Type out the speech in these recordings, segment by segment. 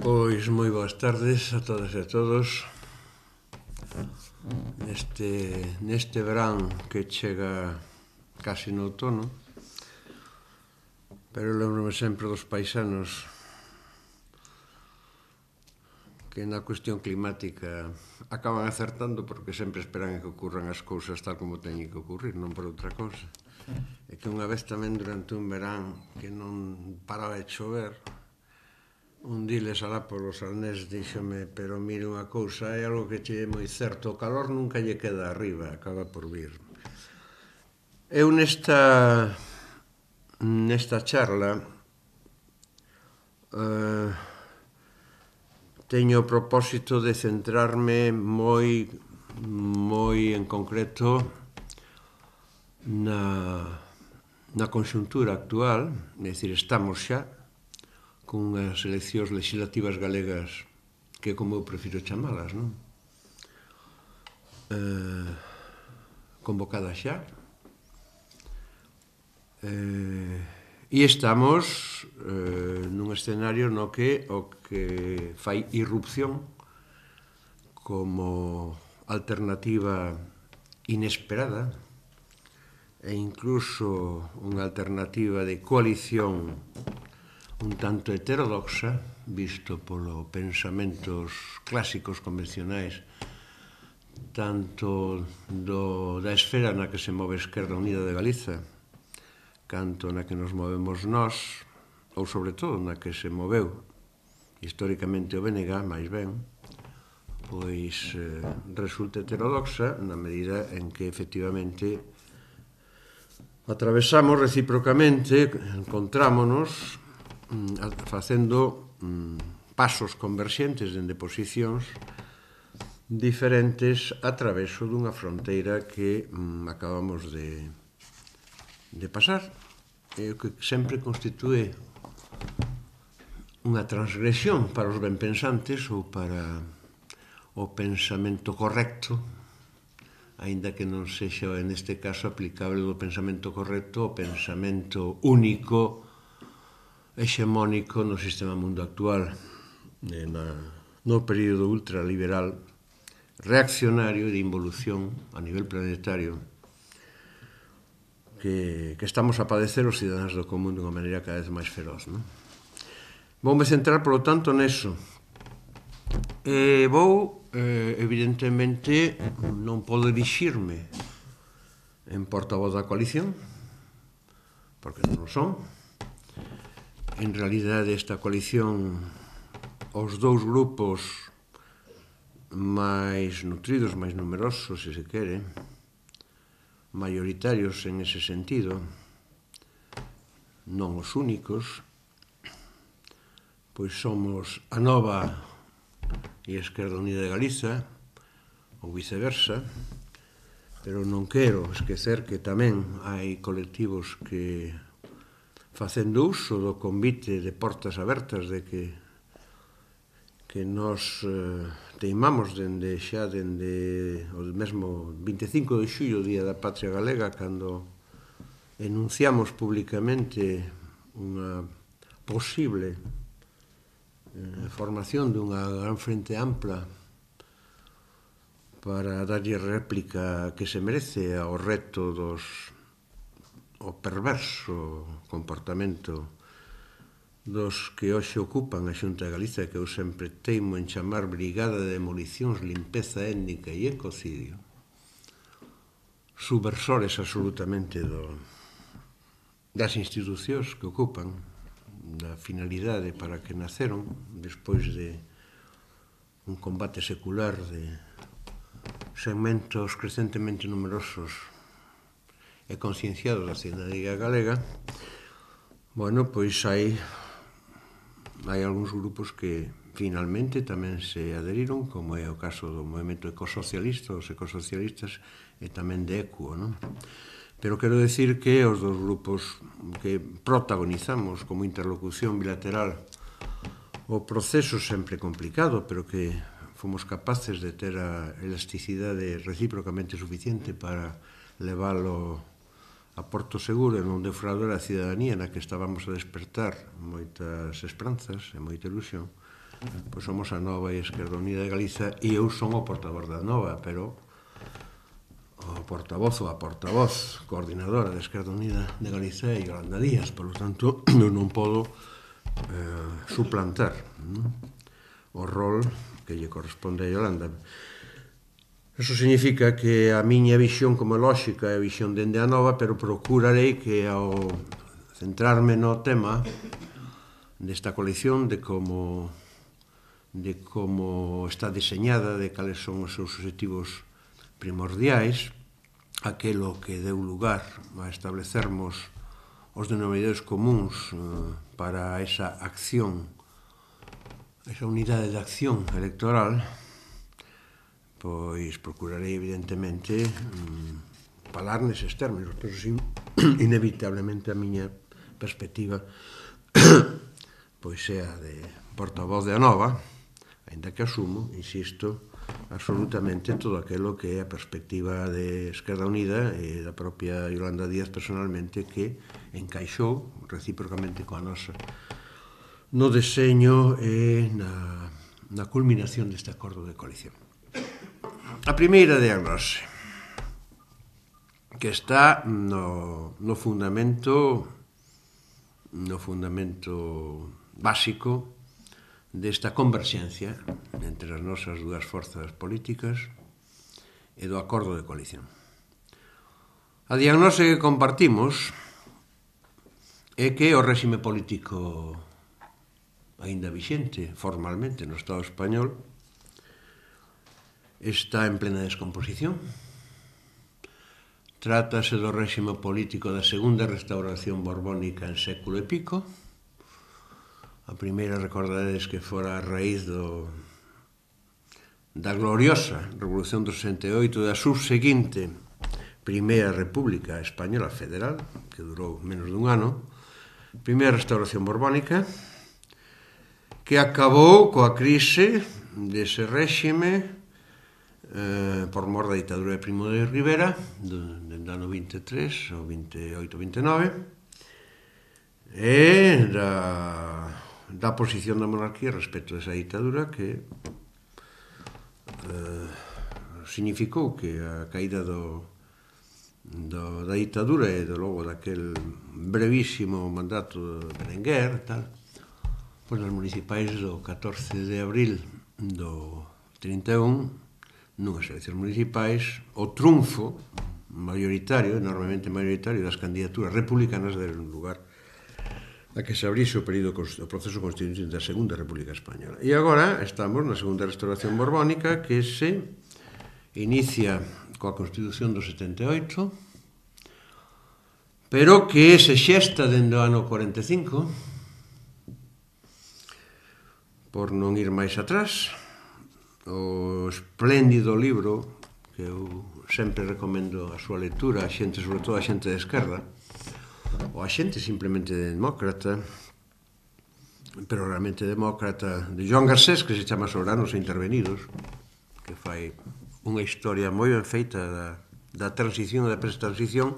Pois moi boas tardes a todas e a todos. Neste verán que chega casi no outono, pero lembro-me sempre dos paisanos que na cuestión climática acaban acertando porque sempre esperan que ocurran as cousas tal como teñen que ocurrir, non por outra cousa. E que unha vez tamén durante un verán que non paraba de chover, un diles alá polos Arnés díxome, pero mire unha cousa, hai algo que che é moi certo, o calor nunca lle queda arriba, acaba por vir. Eu nesta charla teño o propósito de centrarme moi en concreto na conxuntura actual, é dicir, estamos xa cunhas eleccións legislativas galegas que como eu prefiro chamalas, non? Convocadas xa. E estamos nun escenario no que o que fai irrupción como alternativa inesperada e incluso unha alternativa de coalición un tanto heterodoxa, visto polo pensamentos clásicos convencionais tanto da esfera na que se move a Esquerda Unida de Galiza canto na que nos movemos nós, ou sobre todo na que se moveu históricamente o BNG, máis ben, pois resulta heterodoxa na medida en que efectivamente atravesamos recíprocamente, encontrámonos facendo pasos converxentes dende posicións diferentes a traveso dunha fronteira que acabamos de pasar, e que sempre constitúe unha transgresión para os benpensantes ou para o pensamento correcto, aínda que non sexa neste caso aplicable o pensamento correcto ao pensamento único hexemónico no sistema mundo actual, no período ultraliberal reaccionario de involución a nivel planetario que estamos a padecer os cidadáns do común dunha maneira cada vez máis feroz, non? Voume centrar, polo tanto, neso. Evidentemente, non podo dirixirme en portavoz da coalición, porque non o son. En realidade, esta coalición, os dous grupos máis nutridos, máis numerosos, se quere, maioritarios en ese sentido, non os únicos, pois somos a Nova e a Esquerda Unida de Galiza, ou viceversa, pero non quero esquecer que tamén hai colectivos que, facendo uso do convite de portas abertas de que nos teimamos dende o mesmo 25 de xullo, Día da Patria Galega, cando enunciamos públicamente unha posible formación dunha gran frente ampla para darlle réplica que se merece ao reto o perverso comportamento dos que hoxe ocupan a Xunta de Galiza, que eu sempre teimo en chamar Brigada de Demolicións, Limpeza Étnica e Ecocidio, subversores absolutamente das institucións que ocupan, da finalidade para que naceron despois de un combate secular de segmentos crecentemente numerosos e concienciados da cidadanía galega. Bueno, pois hai algúns grupos que finalmente tamén se aderiron, como é o caso do movimento ecosocialista, os ecosocialistas, e tamén de ECUO, non? Pero quero decir que os dos grupos que protagonizamos como interlocución bilateral o proceso sempre complicado, pero que fomos capaces de ter a elasticidade recíprocamente suficiente para leválo a porto seguro e non defraudar a cidadanía na que estábamos a despertar moitas esperanzas e moita ilusión, pois somos a Nova e a Esquerda Unida de Galiza, e eu son o portavoz da Nova, pero o portavoz ou a portavoz coordinadora da Esquerda Unida de Galiza é Yolanda Díaz, por lo tanto, eu non podo suplantar o rol que lle corresponde a Yolanda. Eso significa que a miña visión como lóxica é a visión dende a Nova, pero procurarei que ao centrarme no tema desta colección, de como está deseñada, de cales son os seus objetivos primordiais, aquelo que deu lugar a establecermos os denominadores comuns para esa acción, esa unidade de acción electoral, pois procurarei evidentemente falar neses términos, pero inevitablemente a miña perspectiva pois sea de portavoz de Anova, ainda que asumo, insisto, absolutamente todo aquilo que é a perspectiva de Esquerda Unida e da propia Yolanda Díaz personalmente, que encaixou recíprocamente coa nosa no deseño e na culminación deste acordo de coalición. A primeira diagnose, que está no fundamento básico desta converxencia entre as nosas dúas forzas políticas e do acordo de coalición. A diagnose que compartimos é que o réxime político aínda vixente formalmente no Estado español está en plena descomposición. Trátase do réxime político da segunda restauración borbónica en século e pico. A primeira, recordaredes que fora a raíz da gloriosa Revolución do 68, da subseguinte Primeira República Española Federal, que durou menos dun ano, primeira restauración borbónica, que acabou coa crise dese réxime por mor da ditadura de Primo de Rivera, dende o ano 23 ao 28-29, e da posición da monarquía respecto a esa ditadura, que significou que a caída da ditadura e logo daquel brevísimo mandato de Berenguer, tal, pois nas municipais do 14 de abril do 31, nunhas eleccións municipais, o triunfo maioritario, enormemente maioritario, das candidaturas republicanas deron lugar a que se abrise o proceso constituinte da Segunda República Española. E agora estamos na Segunda Restauración Borbónica, que se inicia coa Constitución do 78, pero que se xesta dende o ano 45, por non ir máis atrás. O espléndido libro que eu sempre recomendo a súa lectura, a xente, sobre todo a xente de esquerda, ou a xente simplemente demócrata, pero realmente demócrata, de Joan Garcés, que se chama Soberanos e Intervenidos, que fai unha historia moi ben feita da transición e da prestransición,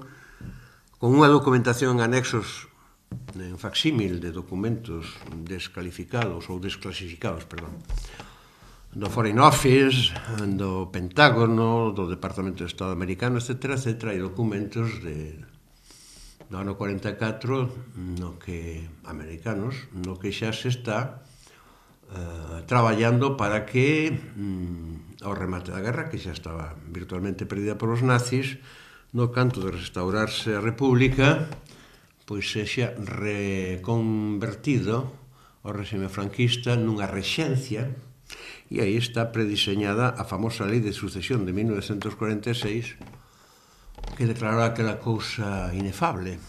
con unha documentación en anexos en facsímil de documentos desclasificados, perdón, do Foreign Office, do Pentágono, do Departamento de Estado americano, etc., e documentos do ano 44 americanos, no que xa se está traballando para que ao remate da guerra, que xa estaba virtualmente perdida polos nazis, no canto de restaurarse a República, pois sexa reconvertido o réxime franquista nunha rexencia. E aí está prediseñada a famosa Lei de Sucesión de 1946, que declarou aquela cousa inefable,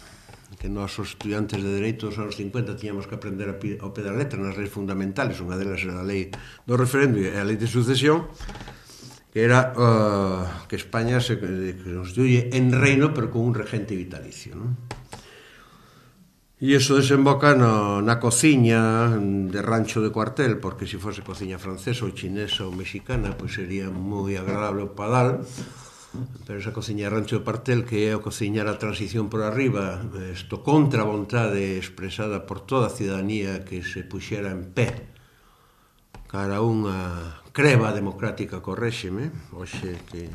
que nós, os estudiantes de Dereito dos anos 50, tiñamos que aprender ao pé da letra nas leis fundamentales. Unha delas era a Lei do Referendo e a Lei de Sucesión, que era que España se constituye en reino, pero con un regente vitalicio, non? E iso desemboca na cociña de rancho de cuartel, porque se fose cociña francesa ou chinesa ou mexicana, pois sería moi agradable o padal, pero esa cociña de rancho de cuartel, que é o cociñar a transición por arriba, isto contra a vontade expresada por toda a cidadanía que se puxera en pé cara a unha creba democrática co réxime, hoxe que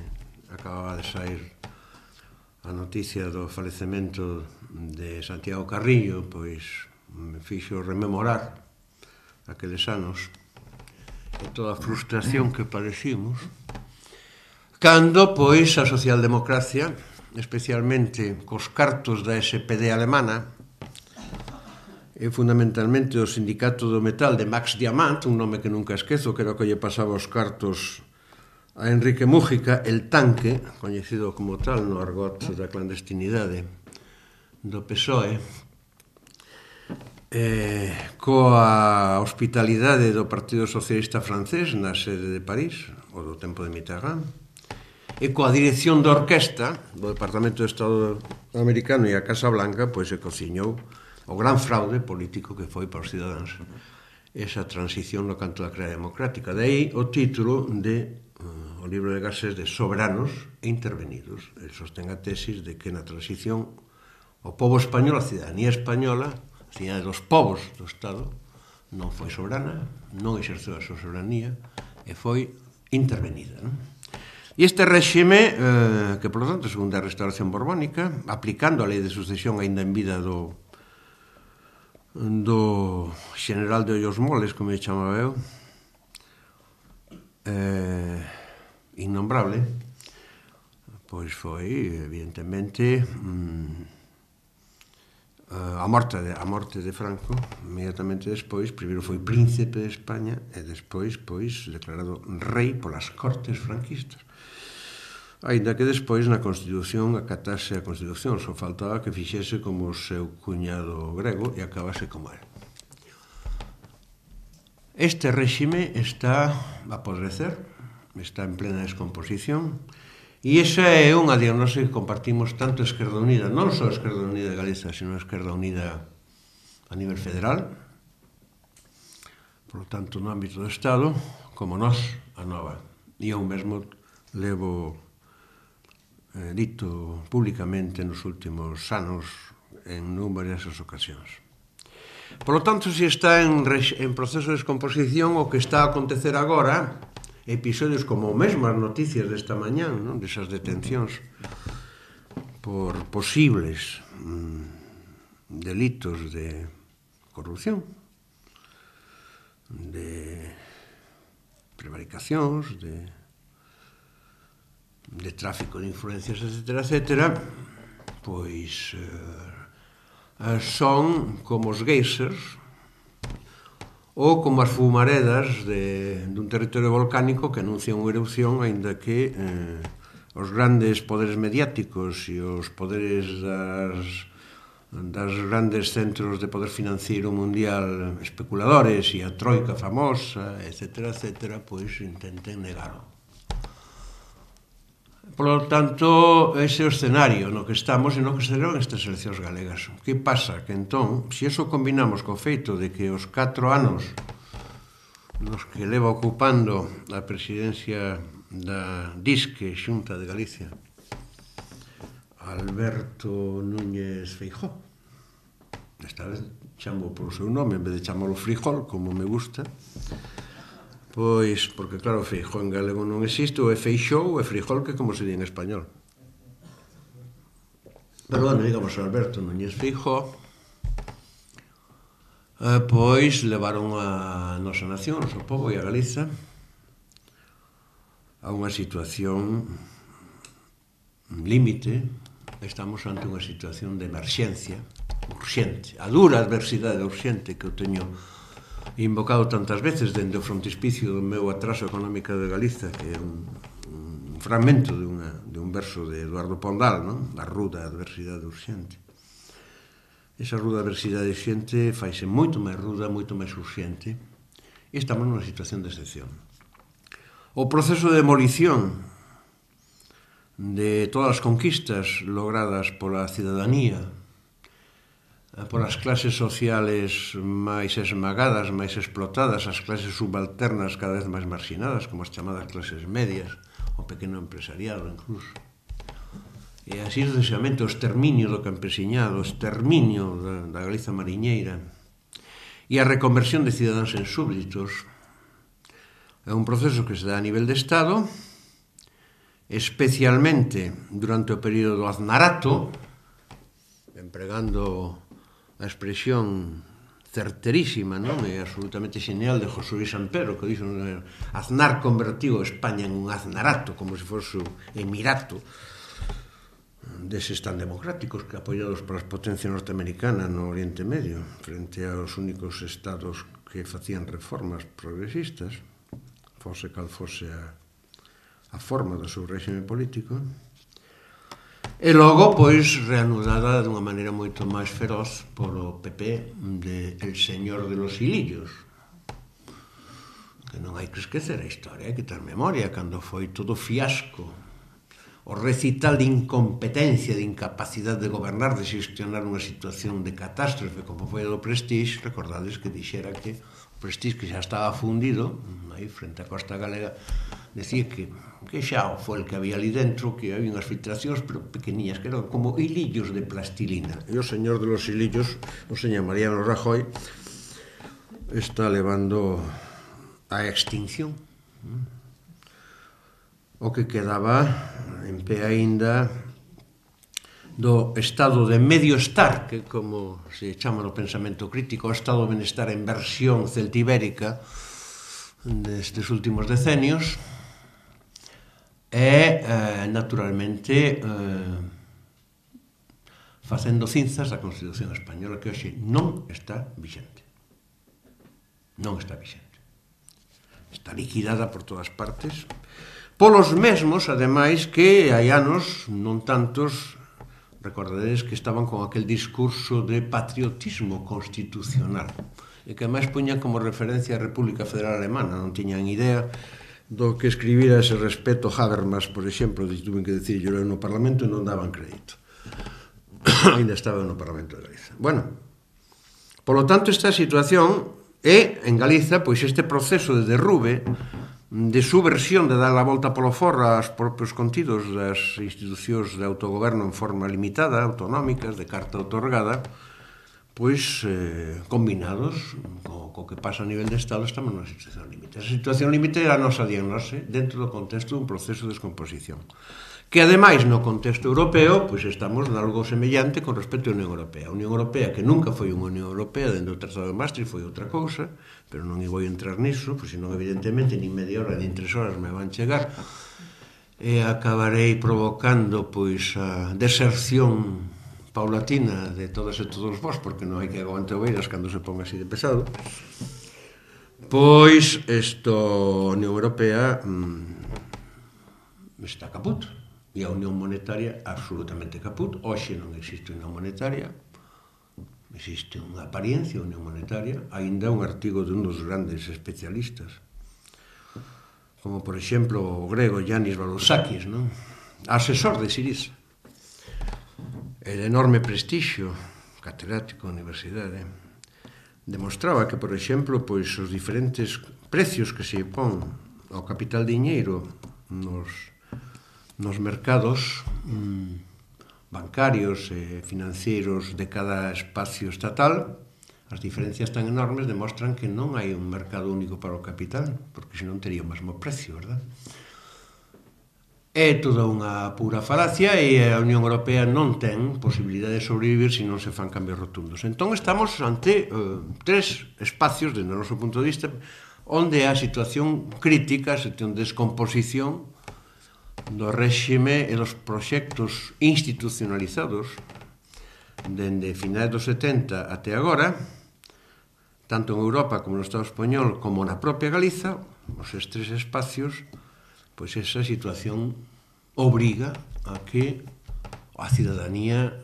acababa de sair a noticia do falecemento de Santiago Carrillo, pois me fixo rememorar aqueles anos e toda a frustración que padecimos cando, pois, a socialdemocracia, especialmente cos cartos da SPD alemana e fundamentalmente o sindicato do metal de Max Diamant, un nome que nunca esquezo, que era o que lle pasaba os cartos a Enrique Mújica, el tanque, coñecido como tal no argot da clandestinidade do PSOE, coa hospitalidade do Partido Socialista francés na sede de París, o do tempo de Mitterrand, e coa dirección da orquesta do Departamento de Estado americano e a Casa Blanca, pois se cociñou o gran fraude político que foi para os cidadáns esa transición no canto da crea democrática. De aí o título de o libro de Garcés de Soberanos e Intervenidos. El sostén a tesis de que na transición o pobo español, a cidadanía española, a cidadanía dos povos do Estado, non foi soberana, non exerceu a súa soberanía e foi intervenida. E este réxime, que, por lo tanto, segundo a restauración borbónica, aplicando a lei de sucesión aínda en vida do general de Ollos Moles, como lle chamaba eu, innombrable, pois foi, evidentemente, a morte de Franco, inmediatamente despois, primeiro foi príncipe de España e despois, pois, declarado rei polas cortes franquistas. Ainda que despois na Constitución acatase a Constitución, só faltaba que fixese como o seu cuñado grego e acabase como él. Este réxime está a podrecer, está en plena descomposición, e esa é unha diagnose que compartimos tanto Esquerda Unida, non só Esquerda Unida de Galiza, sino Esquerda Unida a nivel federal, por lo tanto no ámbito do Estado, como nós, a nova. E eu mesmo levo dito públicamente nos últimos anos en numerosas ocasións. Por lo tanto, se está en proceso de descomposición, o que está a acontecer agora, episodios como mesmo as noticias desta mañán, non? Desas detencións por posibles delitos de corrupción, de prevaricacións, de tráfico de influencias, etc., pois son como os geysers ou como as fumaredas dun territorio volcánico que anuncia unha erupción, aínda que os grandes poderes mediáticos e os poderes das grandes centros de poder financiero mundial especuladores e a troika famosa, etc., pois intenten negalo. Por lo tanto, ese é o escenario no que estamos e no que serán estas eleccións galegas. Que pasa? Que entón, se iso combinamos co feito de que os 4 anos nos que leva ocupando a presidencia da DISC, Xunta de Galicia, Alberto Núñez Feijóo, esta vez chamo polo seu nome en vez de chamalo Frijol, como me gusta, pois, porque claro, Feijóo en galego non existe, ou é Feixou ou é Frijol, que como se di en español. Pero, bueno, digamos, Alberto Núñez Feijóo, pois levaron a nosa nación, o noso pobo e a Galiza a unha situación límite. Estamos ante unha situación de emerxencia urxente, a dura adversidade urxente que eu teño invocado tantas veces dende o frontispicio do meu atraso económico de Galiza, que é un fragmento de un verso de Eduardo Pondal, non? A ruda adversidade urxente. Esa ruda adversidade urxente faise moito máis ruda, moito máis urxente, e estamos nunha situación de excepción. O proceso de demolición de todas as conquistas logradas pola cidadanía, polas clases sociales máis esmagadas, máis explotadas, as clases subalternas cada vez máis marxinadas, como as chamadas clases medias, o pequeno empresariado incluso. E así sucesivamente o exterminio do campesiñado, o exterminio da Galiza mariñeira e a reconversión de cidadáns en súbditos, É un proceso que se dá a nivel de Estado, especialmente durante o período do Aznarato, empregando a expresión certerísima, non? E absolutamente genial de José Luis Sampero, que dixo Aznar convertiu España en un aznarato, como se fose un emirato deses tan democráticos que apoiados polas potencias norteamericanas no Oriente Medio, frente aos únicos estados que facían reformas progresistas, fose cal fose a forma do seu réxime político. E logo, pois, reanudada dunha maneira moito máis feroz polo PP de El Señor de los Hilillos. Que non hai que esquecer a historia, hai que ter memoria, cando foi todo fiasco, o recital de incompetencia, de incapacidade de gobernar, de xestionar unha situación de catástrofe, como foi a do Prestige, recordades que dixera que o Prestige, que xa estaba fundido, aí frente á costa galega, decía que xa foi el que había ali dentro, que había unhas filtracións, pero pequeniñas, que eran como hilillos de plastilina. E o señor de los hilillos, o señor Mariano Rajoy, está levando a extinción. O que quedaba en pé aínda do estado de medio estar, que como se chama no pensamento crítico, o estado de benestar en versión celtibérica destes últimos decenios, e, naturalmente, facendo cinzas a Constitución Española, que hoxe non está vixente. Non está vixente. Está liquidada por todas partes, polos mesmos, ademais, que hai anos, non tantos, recordaredes que estaban con aquel discurso de patriotismo constitucional, e que máis puñan como referencia a República Federal Alemana, non tiñan idea do que escribira ese respecto Habermas, por exemplo, tuven que decir yo no Parlamento e non daban crédito. Ainda estaba no Parlamento de Galiza. Bueno, polo tanto, esta situación é, en Galiza, pois este proceso de derrube, de subversión, de dar a volta polo forro aos propios contidos das institucións de autogoberno en forma limitada, autonómicas, de carta outorgada, pois, combinados co que pasa a nivel de Estado, estamos nunha situación límite. Esa situación límite é a nosa diagnose dentro do contexto dun proceso de descomposición. Que, ademais, no contexto europeo, pois estamos nalgo semellante con respecto á Unión Europea. A Unión Europea, que nunca foi unha Unión Europea, dentro do Tratado de Maastricht foi outra cousa, pero non vou entrar nisso, pois senón, evidentemente, nin media hora, nin 3 horas me van chegar, e acabarei provocando, pois, a deserción paulatina de todas e todos vós, porque non hai que aguante oveiras cando se ponga así de pesado, pois, a Unión Europea está caput. E a Unión Monetaria absolutamente caput. Hoxe non existe Unión Monetaria, existe unha apariencia Unión Monetaria, aínda un artigo de un dos grandes especialistas, como por exemplo o grego Yanis Varoufakis, non? Asesor de Syriza, e de enorme prestixio, catedrático da universidade, demostraba que, por exemplo, pois os diferentes precios que se pon ao capital diñeiro nos mercados bancarios e financeiros de cada espacio estatal, as diferencias tan enormes demostran que non hai un mercado único para o capital, porque senón tería o mesmo precio, verdad? É toda unha pura falacia e a Unión Europea non ten posibilidade de sobrevivir se non se fan cambios rotundos. Entón estamos ante 3 espacios, desde o noso punto de vista, onde a situación crítica, a situación de descomposición do réxime e dos proxectos institucionalizados dende finais dos 70 até agora, tanto en Europa como no Estado español como na propia Galiza, os 3 espacios, pois esa situación obriga a que a cidadanía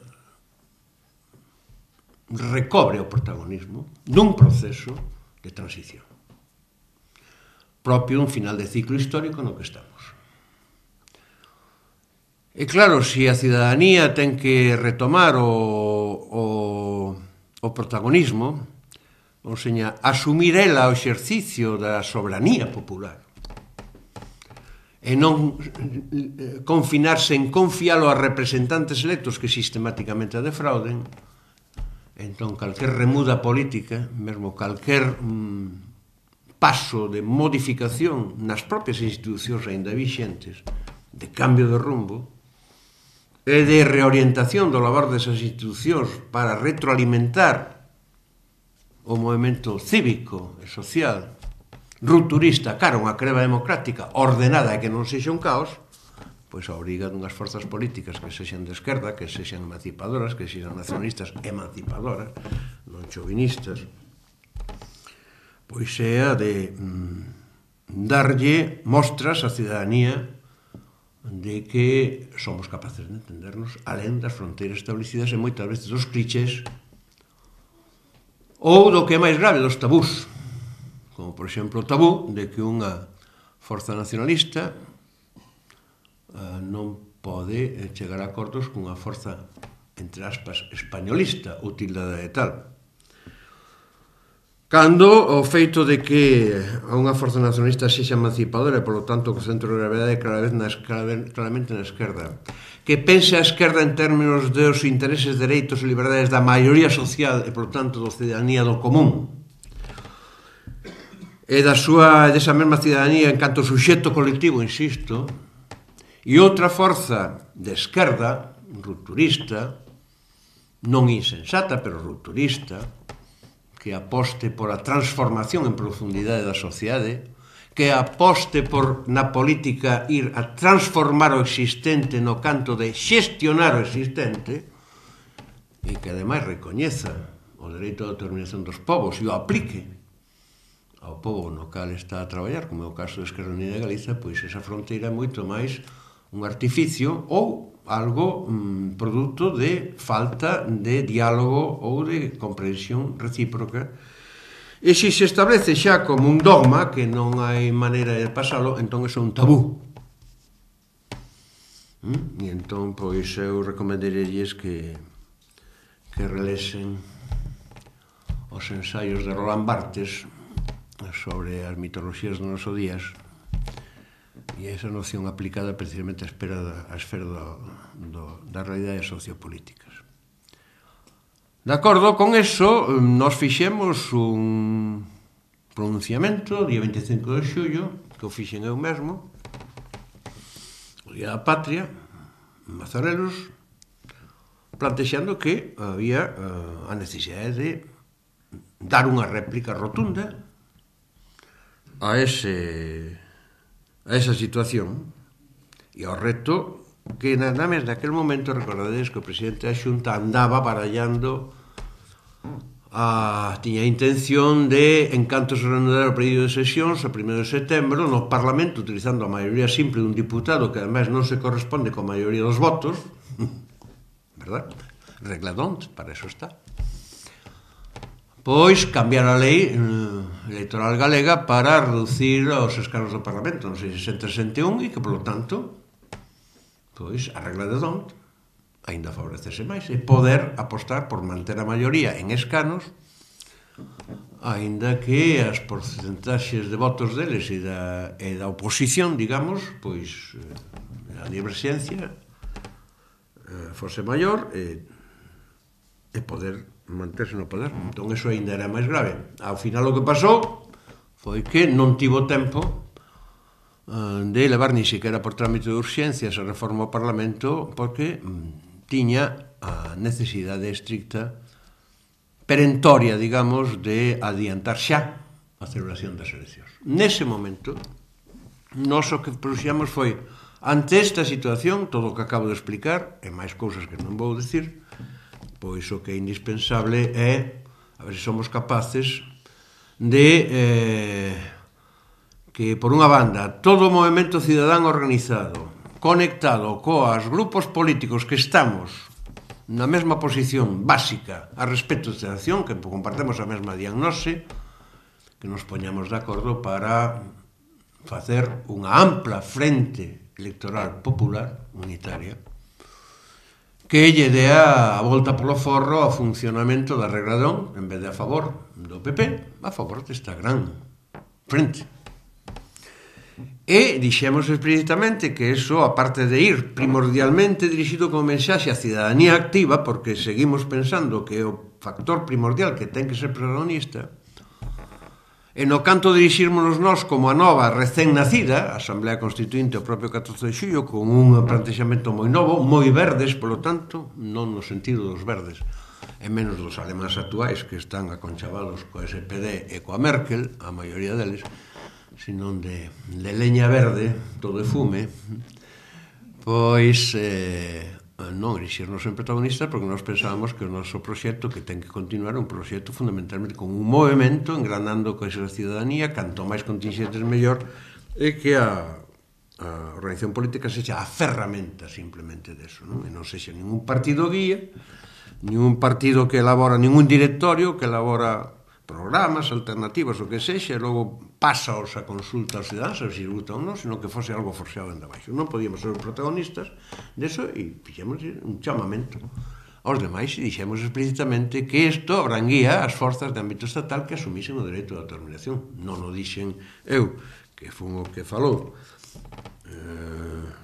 recobre o protagonismo dun proceso de transición propio dun final de ciclo histórico no que estamos. E claro, se a cidadanía ten que retomar o protagonismo, ou seña, asumir ela o exercicio da soberanía popular, e non confinarse en confialo a representantes electos que sistemáticamente a defrauden, entón calquer remuda política, mesmo calquer paso de modificación nas propias institucións aínda vixentes, de cambio de rumbo, e de reorientación do labor desas institucións para retroalimentar o movimento cívico e social rupturista cara a unha creba democrática ordenada e que non sexa un caos, pois a obriga dunhas forzas políticas que sexan de esquerda, que sexan emancipadoras, que sexan nacionalistas emancipadoras, non chauvinistas, pois é a de darlle mostras á cidadanía de que somos capaces de entendernos alén das fronteiras establecidas e moitas veces dos clichés ou do que é máis grave, dos tabús, como por exemplo o tabú de que unha forza nacionalista non pode chegar a acordos cunha forza, entre aspas, españolista, utildada de tal. Cando o feito de que a unha forza nacionalista sexa emancipadora e, polo tanto, que o centro de gravedade claramente na esquerda, que pense a esquerda en términos dos intereses, dereitos e liberdades da maioría social e, polo tanto, da cidadanía do común, e desa mesma cidadanía en canto suxeto colectivo, insisto, e outra forza de esquerda, rupturista, non insensata, pero rupturista, que aposte por a transformación en profundidade da sociedade, que aposte por na política ir a transformar o existente no canto de xestionar o existente, e que ademais recoñeza o dereito de determinación dos povos e o aplique ao povo no cal está a traballar, como é o caso de Esquerda Unida de Galiza, pois esa fronteira é moito máis un artificio ou algo produto de falta de diálogo ou de comprensión recíproca. E se se establece xa como un dogma que non hai maneira de pasalo, entón é un tabú. E entón, pois, eu recomendaríalles que relesen os ensaios de Roland Barthes sobre as mitoloxías dos nosos días, e esa noción aplicada precisamente á esfera das realidades sociopolíticas. De acordo con eso, nos fixemos un pronunciamento día 25 de xullo, que o fixen eu mesmo, o Día da Patria, en Mazarelos, plantexando que había a necesidade de dar unha réplica rotunda a esa situación e ao reto que nada máis naquel momento recordades que o presidente da Xunta andaba barallando tiña a intención de, en canto se reanudara o período de sesións a 1 de setembro no Parlamento, utilizando a maioría simple dun diputado que ademais non se corresponde coa maioría dos votos, verdad? Regla d'Hondt, para eso está. Pois cambiar a lei electoral galega para reducir os escanos do Parlamento, non sei, 60-61, e que, polo tanto, pois, a regla de D'Hondt aínda favorecese máis, e poder apostar por manter a maioría en escanos, aínda que as porcentaxes de votos deles e da oposición, digamos, pois, a diverxencia fose maior e poder manterse no poder. Entón, eso ainda era máis grave. Ao final, o que pasou foi que non tivo tempo de levar ni siquiera por trámite de urxencia esa reforma ao Parlamento, porque tiña a necesidade estricta, perentoria, digamos, de adiantar xa a celebración das eleccións. Nese momento, nós o que proxíamos foi, ante esta situación, todo o que acabo de explicar, e máis cousas que non vou dicir, pois o que é indispensable é a ver se somos capaces de que, por unha banda, todo o movemento cidadán organizado, conectado coas grupos políticos que estamos na mesma posición básica a respecto desta acción, que compartemos a mesma diagnose, que nos poñamos de acordo para facer unha ampla frente electoral popular unitaria que lle dea a volta polo forro ao funcionamento da regla d'Hondt, en vez de a favor do PP, a favor desta gran frente. E dixemos explícitamente que eso, aparte de ir primordialmente dirixido como mensaxe á cidadanía activa, porque seguimos pensando que o factor primordial que ten que ser protagonista E no canto dirixírmonos nós como a nova recén nacida, a Asamblea Constituinte o propio 14 de xullo, con un plantexamento moi novo, moi verdes, polo tanto, non no sentido dos verdes, e menos dos alemáns actuais que están aconchavados coa SPD e coa Merkel, a maioría deles, senón de leña verde, todo é fume, pois non erixirnos en protagonistas porque nós pensábamos que o noso proxecto que ten que continuar é un proxecto fundamentalmente con un movimento engranando coa ciudadanía, canto máis contingentes mellor, e que a organización política sexa a ferramenta simplemente deso, non? E non sexa ningún partido guía, ningún partido que elabora, ningún directorio que elabora programas, alternativas, o que sexa, e logo pasaos a consulta aos cidadanos, se gusta ou non, senón que fose algo forxado dende abaixo. Non podíamos ser protagonistas deso e fixemos un chamamento aos demais e dixemos explícitamente que isto abranguía as forzas de ámbito estatal que asumisen o dereito de autodeterminación. Non o dixen eu, que fun o que falou,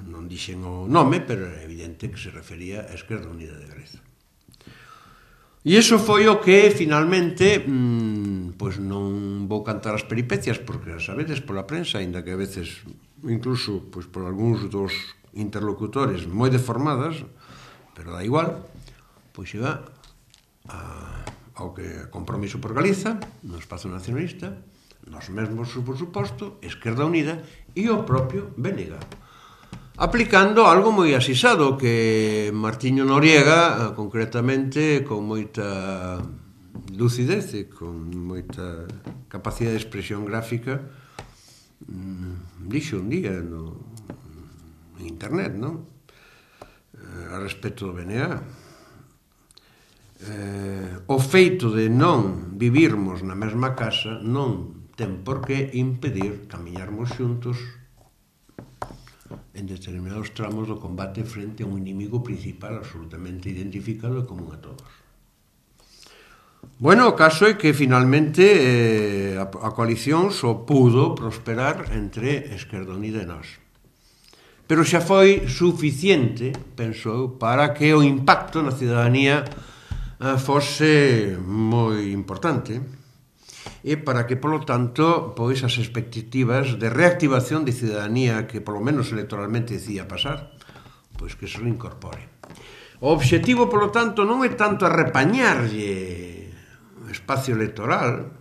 non dixen o nome, pero é evidente que se refería á Esquerda Unida de Galiza. E iso foi o que, finalmente, pois non vou cantar as peripecias, porque as sabedes pola prensa, aínda que a veces, incluso, pois por algúns dos interlocutores moi deformadas, pero dá igual, pois iba ao que Compromiso por Galiza, no Espazo Nacionalista, nós mesmos, por suposto, Esquerda Unida e o propio BNG, aplicando algo moi asisado que Martiño Noriega, concretamente, con moita lucidez e con moita capacidade de expresión gráfica, dixo un día en internet, non? A respecto do BNG. O feito de non vivirmos na mesma casa non ten por que impedir camiñarmos xuntos en determinados tramos do combate frente a un inimigo principal absolutamente identificado e común a todos. Bueno, o caso é que finalmente a coalición só pudo prosperar entre Esquerda Unida e nós. Pero xa foi suficiente, penso eu, para que o impacto na ciudadanía fose moi importante e para que, polo tanto, pois as expectativas de reactivación de ciudadanía que, polo menos electoralmente, decía pasar, pois que se incorpore. O obxectivo, polo tanto, non é tanto arrepañarlle o espacio electoral,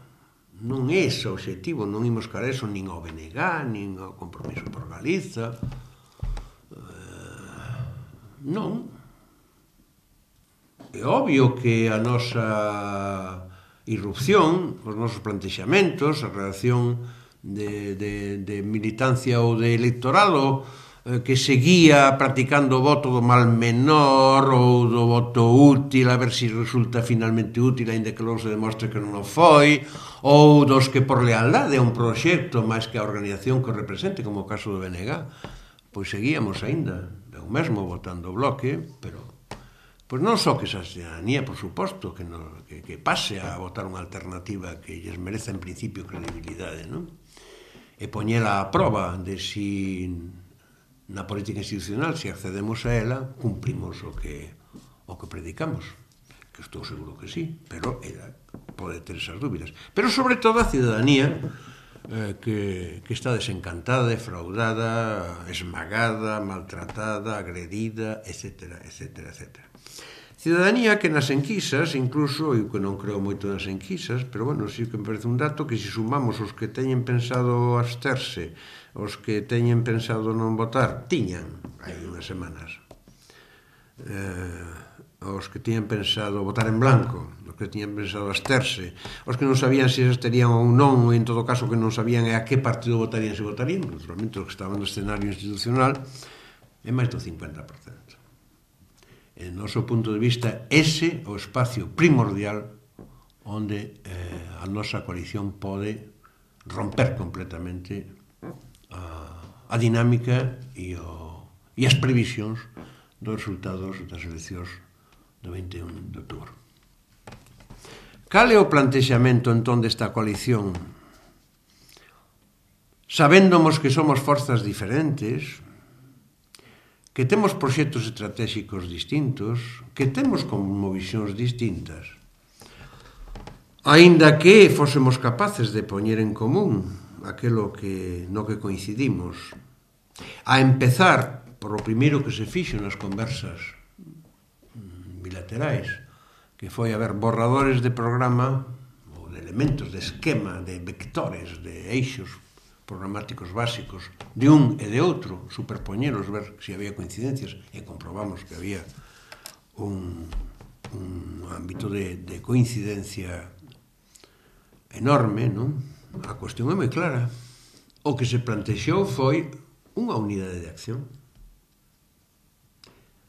non é ese o obxectivo, non imos cara eso nin ao BNG, nin ao Compromiso por Galiza, non. É obvio que a nosa irrupción, os nosos plantexamentos, a relación de militancia ou de electorado que seguía practicando o voto do mal menor ou do voto útil, a ver se resulta finalmente útil, ainda que logo se demostre que non o foi, ou dos que por lealdade a un proxecto máis que a organización que o represente, como o caso do BNG, pois seguíamos aínda, eu mesmo votando o Bloque, pero pois non só que esa ciudadanía, por suposto, que pase a votar unha alternativa que lles mereza en principio credibilidade, non? E poñela a prova de si na política institucional, se accedemos a ela, cumprimos o que predicamos. Que estou seguro que sí, pero ela pode ter esas dúbidas. Pero sobre todo a ciudadanía que está desencantada, defraudada, esmagada, maltratada, agredida, etcétera, etcétera, etcétera. Ciudadanía que nas enquisas, incluso, eu que non creo moito nas enquisas, pero bueno, sí que me parece un dato que se sumamos os que teñen pensado absterse, os que teñen pensado non votar, tiñan hai unhas semanas, os que tiñan pensado votar en blanco, os que tiñan pensado absterse, os que non sabían se estarían ou non, ou en todo caso que non sabían a que partido votarían se votarían, naturalmente os que estaban no escenario institucional, é máis do 50%. En noso punto de vista, ese é o espacio primordial onde a nosa coalición pode romper completamente a dinámica e as previsións dos resultados das eleccións do 21 de outubro. Cal é o plantexamento entón desta coalición? Sabéndomos que somos forzas diferentes, que temos proxectos estratégicos distintos, que temos como visións distintas. Aínda que fósemos capaces de poñer en común aquilo no que coincidimos, a empezar por o primeiro que se fixo nas conversas bilaterais, que foi haber borradores de programa ou de elementos, de esquema, de vectores, de eixos programáticos básicos de un e de outro, superpoñelos, ver se había coincidencias, e comprobamos que había un ámbito de coincidencia enorme, non? A cuestión é moi clara. O que se plantexou foi unha unidade de acción.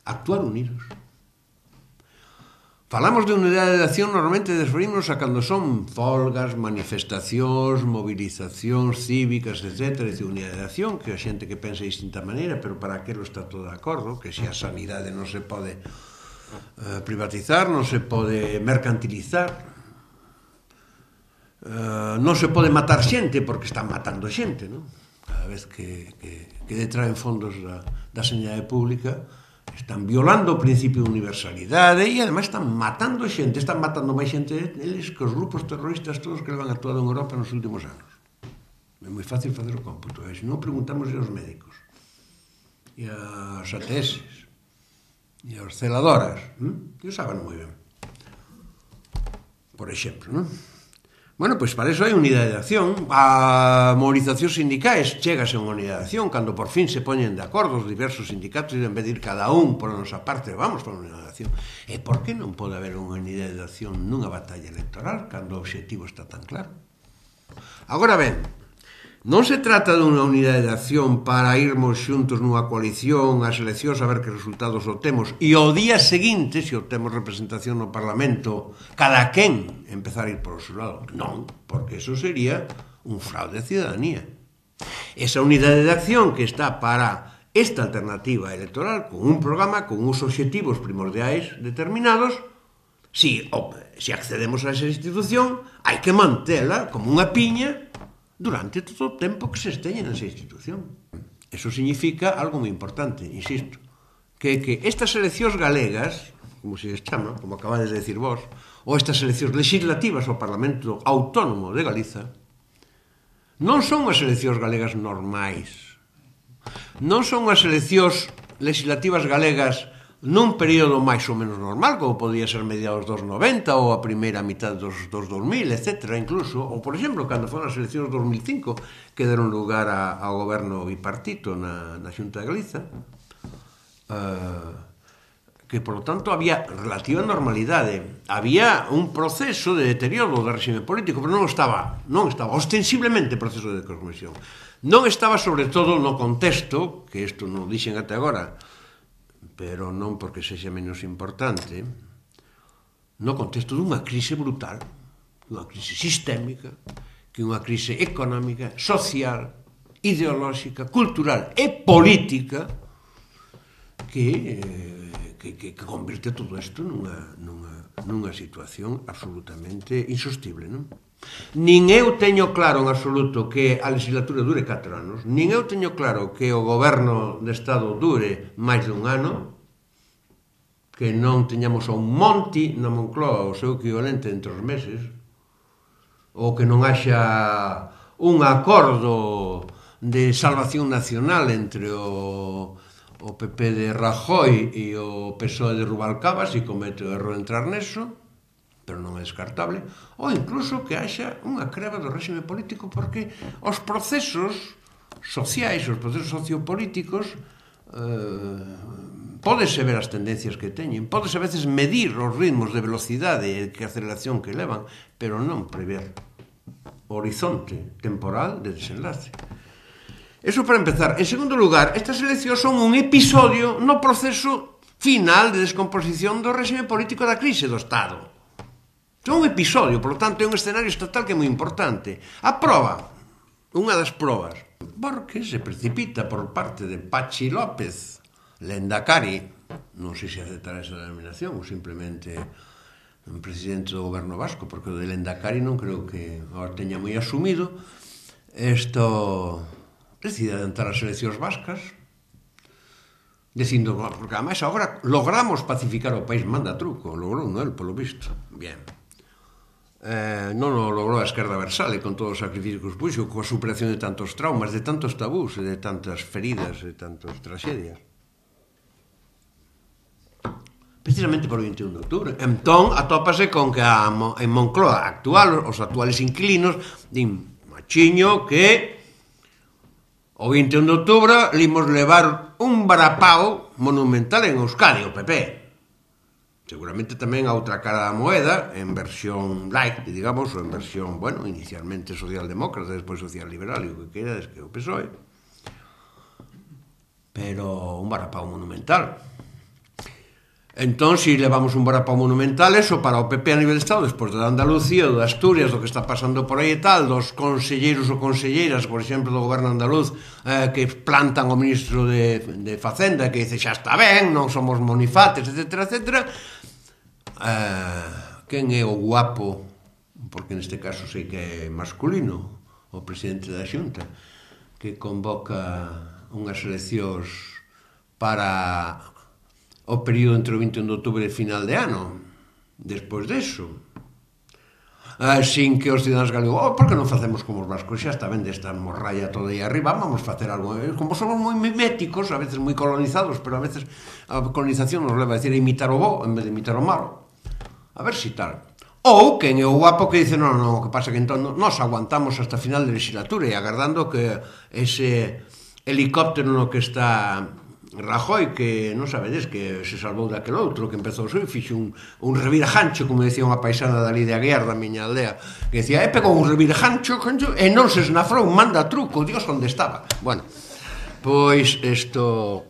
Actuar unidos. Falamos de unidade de acción, normalmente referimos a cando son folgas, manifestacións, movilizacións cívicas, etc. É dicir, unidade de acción, que a xente que pensa de distinta maneira, pero para aquilo está todo de acordo, que se a sanidade non se pode privatizar, non se pode mercantilizar, non se pode matar xente porque están matando xente, non? Cada vez que detraen fondos da sanidade pública están violando o principio de universalidade e ademais están matando xente, están matando máis xente eles que os grupos terroristas todos que levan actuado en Europa nos últimos anos. É moi fácil facer o cómputo, se non preguntamos aos médicos e aos ATS e aos celadoras, que saben moi ben, por exemplo, non? Bueno, pois para iso hai unidade de acción. A movilizacións sindicais chégase a unha unidade de acción cando por fin se poñen de acordo os diversos sindicatos e en vez de ir cada un por a nosa parte, vamos por unha unidade de acción. E por que non pode haber unha unidade de acción nunha batalla electoral cando o obxectivo está tan claro? Agora ben, non se trata dunha unidade de acción para irmos xuntos nunha coalición ás eleccións a ver que resultados obtemos e ao día seguinte, se obtemos representación no Parlamento, cada quen empezar a ir por o seu lado. Non, porque eso sería un fraude de ciudadanía. Esa unidade de acción que está para esta alternativa electoral, con un programa, con uns obxectivos primordiais determinados, se accedemos a esa institución, hai que mantela como unha piña durante todo o tempo que se esteña nesa institución. Eso significa algo moi importante, insisto, que estas eleccións galegas, como se les chama, como acabades de decir vos, ou estas eleccións legislativas ao Parlamento Autónomo de Galiza, non son as eleccións galegas normais, non son as eleccións legislativas galegas nun período máis ou menos normal, como podía ser mediados dos 90 ou a primeira mitad dos 2000, etc. Incluso, ou por exemplo, cando foron as eleccións 2005 que deron lugar ao goberno bipartito na Xunta de Galiza, que, por lo tanto, había relativa normalidade. Había un proceso de deterioro do réxime político, pero non estaba ostensiblemente proceso de descompresión. Non estaba, sobre todo, no contexto, que isto non dixen até agora, pero non porque sexa menos importante, no contexto dunha crise brutal, unha crise sistémica, que unha crise económica, social, ideolóxica, cultural e política que convirte todo isto nunha situación absolutamente insostible, non? Nin eu teño claro en absoluto que a legislatura dure 4 anos, nin eu teño claro que o goberno de Estado dure máis de un ano, que non teñamos a un Monti na Moncloa o seu equivalente entre os meses, ou que non haxa un acordo de salvación nacional entre o PP de Rajoy e o PSOE de Rubalcaba, se comete o erro de entrar neso, pero non é descartable, ou incluso que haxa unha creba do réxime político, porque os procesos sociais, os procesos sociopolíticos, pódese ver as tendencias que teñen, pódese a veces medir os ritmos de velocidade e que aceleración que levan, pero non prever o horizonte temporal de desenlace. Eso para empezar. En segundo lugar, estas eleccións son un episodio no proceso final de descomposición do réxime político da crise do Estado. Son un episodio, por lo tanto, é un escenario estatal que é moi importante. A proba, unha das probas, porque se precipita por parte de Patxi López, Lendakari, non sei se aceptará esa denominación ou simplemente un presidente do goberno vasco, porque o de Lendakari non creo que agora teña moi asumido, isto decide adelantar as eleccións vascas, dicindo, porque además agora logramos pacificar o país, manda truco, logrou, non, polo visto. Bien. non o logrou a esquerda versale con todos os sacrificios que puxo, coa superación de tantos traumas, de tantos tabús, de tantas feridas, de tantas tragedias. Precisamente por o 21 de outubro. Entón, atópase con que en Moncloa actual, os actuales inquilinos din, machiño, que o 21 de outubro limos levar un varapao monumental en Euskadi, o PP. Seguramente tamén a outra cara da moeda, en versión light, digamos, ou en versión, bueno, inicialmente socialdemócrata, despois social-liberal, e o que queira, que o PSOE. Pero un varapao monumental. Entón, se levamos un varapao monumental, eso para o PP a nivel de Estado, despois de Andalucía, de Asturias, do que está pasando por aí e tal, dos conselleiros ou conselleiras, por exemplo, do goberno andaluz, que plantan o ministro de Facenda, que dice, xa está ben, non somos monifates, etc., etc., quen é o guapo, porque neste caso sei que é masculino, o presidente da Xunta, que convoca unhas eleccións para o período entre o 21 de outubro e final de ano, despois deso, sin que os cidadáns galegos, por que non facemos como os vascos, xa está ben desta morralla toda aí arriba, vamos facer algo, como somos moi miméticos, a veces moi colonizados, pero a veces a colonización nos leva a decir a imitar o bo en vez de imitar o malo, a ver si tal. Ou quen é o guapo que dice, non, o que pasa que entón nos aguantamos hasta final de legislatura e agardando que ese helicóptero no que está Rajoy, que non sabedes que se salvou daquel outro, que empezou e fixo un revirajancho, como decía unha paisana dali de Aguiar, da miña aldea, que decía, pegou un revirajancho e non se esnafrou, manda truco, Dios onde estaba. Bueno, pois isto,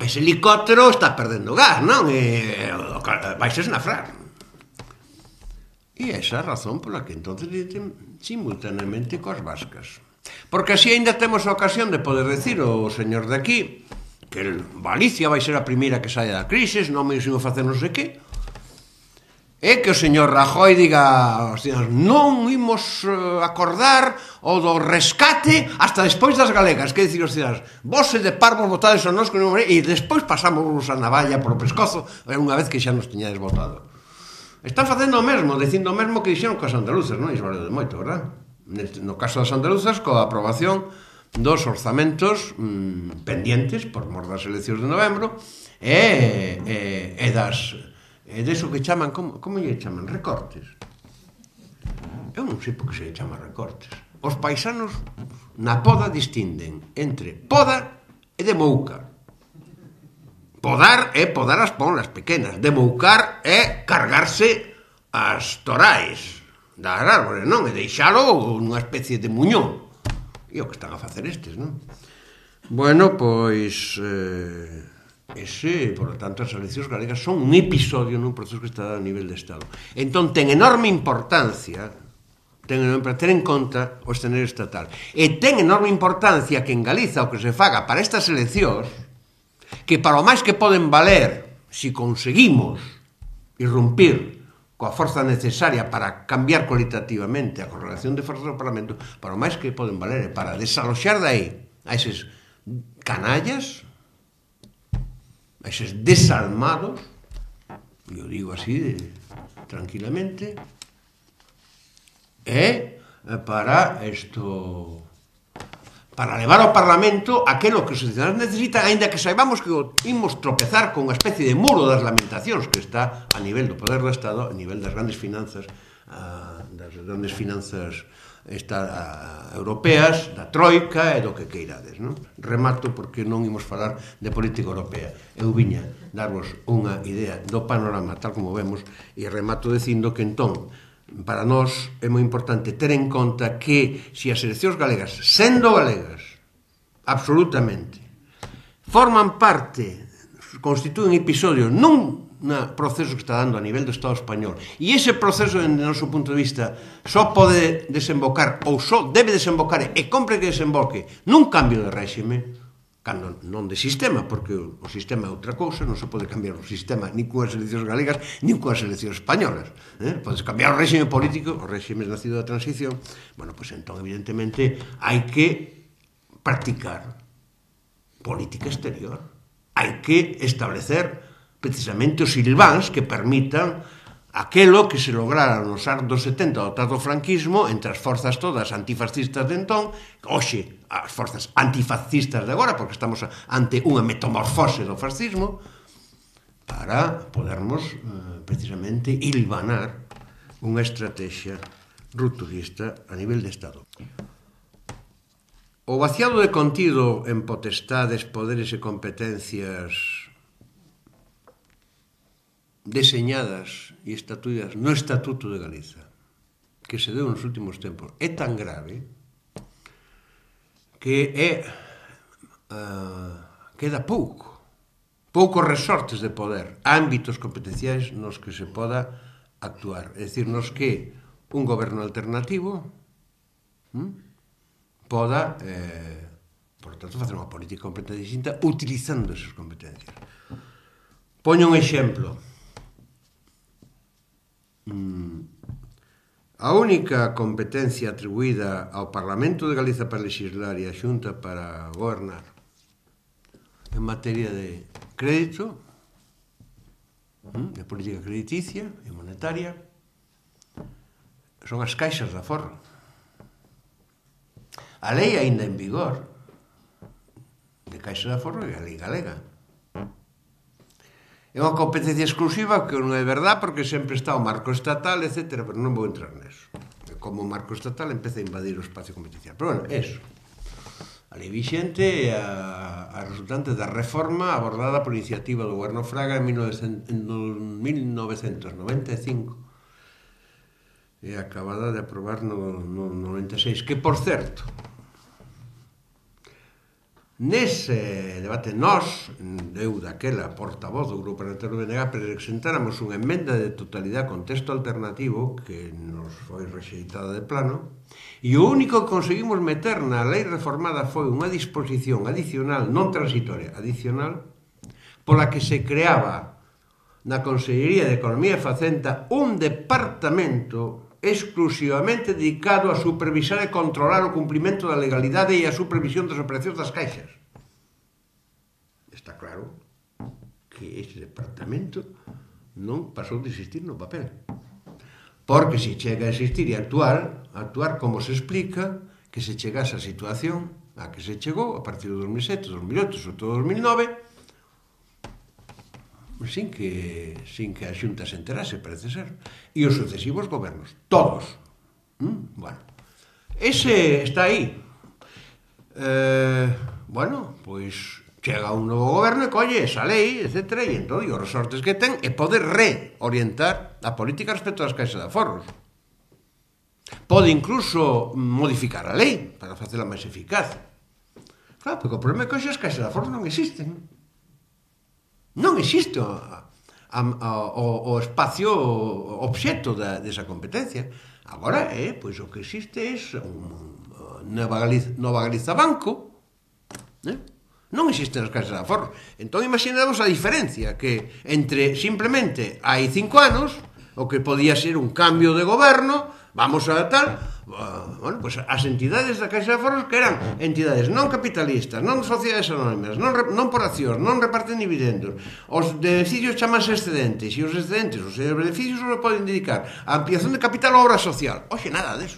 ese helicóptero está perdendo gas, non? Vais esnafrar. E esa é a razón pola que entonces dicen simultaneamente coas vascas. Porque así ainda temos a ocasión de poder decir ao señor de aquí que Galicia vai ser a primeira que saia da crise, non me iso facer non sei que, e que o señor Rajoy diga aos cidadáns, non imos acordar o do rescate hasta despois das galegas, que dicir os cidadáns, vos de parvos votades a nós e despois pasamos a navalla polo pescozo unha vez que xa nos tiñades votado. Están facendo o mesmo, dicindo o mesmo que dixeron coas andaluzas, non? Iso vale de moito, verdad? No caso das andaluzas, coa aprobación dos orzamentos pendientes por mor das eleccións de novembro e deso que chaman, como lle chaman? Recortes. Eu non sei por que se lle chama recortes. Os paisanos na poda distinden entre poda e demoucar. Podar é podar as ponlas pequenas, demoucar é cargarse as torais das árbores, non? E deixalo unha especie de muñón. E o que están a facer estes, non? Bueno, pois ese, por lo tanto, as eleccións galegas son un episodio nun proceso que está a nivel de Estado. Entón, ten enorme importancia ter en conta o escenario estatal. E ten enorme importancia que en Galiza o que se faga para estas eleccións, que para o máis que poden valer, se conseguimos irrumpir coa forza necesaria para cambiar cualitativamente a correlación de forzas do Parlamento, para o máis que poden valer para desaloxar dai a eses canallas, a eses desalmados, e o digo así tranquilamente, e para isto, para levar ao Parlamento aquilo que os cidadáns necesitan, aínda que saibamos que imos tropezar con unha especie de muro das lamentacións que está a nivel do poder do Estado, a nivel das grandes finanzas europeas, da troika e do que queirades, non? Remato porque non imos falar de política europea. Eu viña darvos unha idea do panorama tal como vemos e remato dicindo que entón para nós é moi importante ter en conta que se as eleccións galegas, sendo galegas, absolutamente, forman parte, constitúen episodio nun proceso que está dando a nivel do Estado español, e ese proceso, dende o noso punto de vista, só pode desembocar, ou só debe desembocar, e compre que desemboque, nun cambio de réxime, cando non de sistema, porque o sistema é outra cousa, non se pode cambiar o sistema nin coas eleccións galegas, nin coas eleccións españolas. Podes cambiar o réxime político, o réxime nacido da transición, bueno, pois entón, evidentemente, hai que practicar política exterior. Hai que establecer precisamente os silváns que permitan aquelo que se lograra nos anos 70 do tardo franquismo entre as forzas todas antifascistas de entón, hoxe as forzas antifascistas de agora, porque estamos ante unha metamorfose do fascismo, para podermos precisamente hilvanar unha estrategia rupturista a nivel de Estado. O vaciado de contido en potestades, poderes e competencias deseñadas e estatuídas no Estatuto de Galiza, que se deu nos últimos tempos, é tan grave que queda poucos resortes de poder, ámbitos competenciais nos que se poda actuar. É dicir, nos que un goberno alternativo poda, por tanto, facer unha política completamente distinta utilizando esas competencias. Poño un exemplo. A única competencia atribuída ao Parlamento de Galiza para legislar e a Xunta para gobernar en materia de crédito, de política crediticia e monetaria, son as caixas de aforro. A lei aínda en vigor de caixas de aforro é a lei galega. É unha competencia exclusiva que non é verdad porque sempre está o marco estatal, etc. Pero non vou entrar neso. Como o marco estatal empeza a invadir o espacio competencial. Pero, bueno, eso. A lei vixente é a resultante da reforma abordada por iniciativa do goberno Fraga en 1995 e acabada de aprobar no 96. Que, por certo, nese debate nós, eu daquela portavoz do Grupo Parlamentario do BNG, presentáramos unha emenda de totalidade con texto alternativo que nos foi rexeitada de plano, e o único que conseguimos meter na lei reformada foi unha disposición adicional, non transitoria, adicional, pola que se creaba na Consellería de Economía e Facenda un departamento exclusivamente dedicado a supervisar e controlar o cumprimento da legalidade e a supervisión das operacións das caixas. Está claro que ese departamento non pasou de existir no papel. Porque se chega a existir e actuar como se explica que se chegase a situación a que se chegou a partir do 2007, 2008, sobre todo 2009, sin que a Xunta se enterase, parece ser. E os sucesivos gobernos, todos. Bueno, ese está aí. Bueno, pois chega un novo goberno e colle esa lei, etc. E entón, os resortes que ten é poder reorientar a política respecto ás caixas de aforros. Pode incluso modificar a lei para facela máis eficaz. Claro, porque o problema é que as caixas de aforros non existen. Non existe o espacio obxecto desa competencia. Agora, pois o que existe é Nova Galiza Banco, non existen as caixas de aforros. Entón, imaginamos a diferencia que entre, simplemente, hai 5 anos, o que podía ser un cambio de goberno, vamos a tal, bueno, pues as entidades da Caixa de Aforros que eran entidades non capitalistas, non sociedades anónimas, non por accións, non reparten dividendos, os beneficios chamanse excedentes, e os excedentes, os beneficios só poden dedicar a ampliación de capital ou obra social. Oxe, nada deso.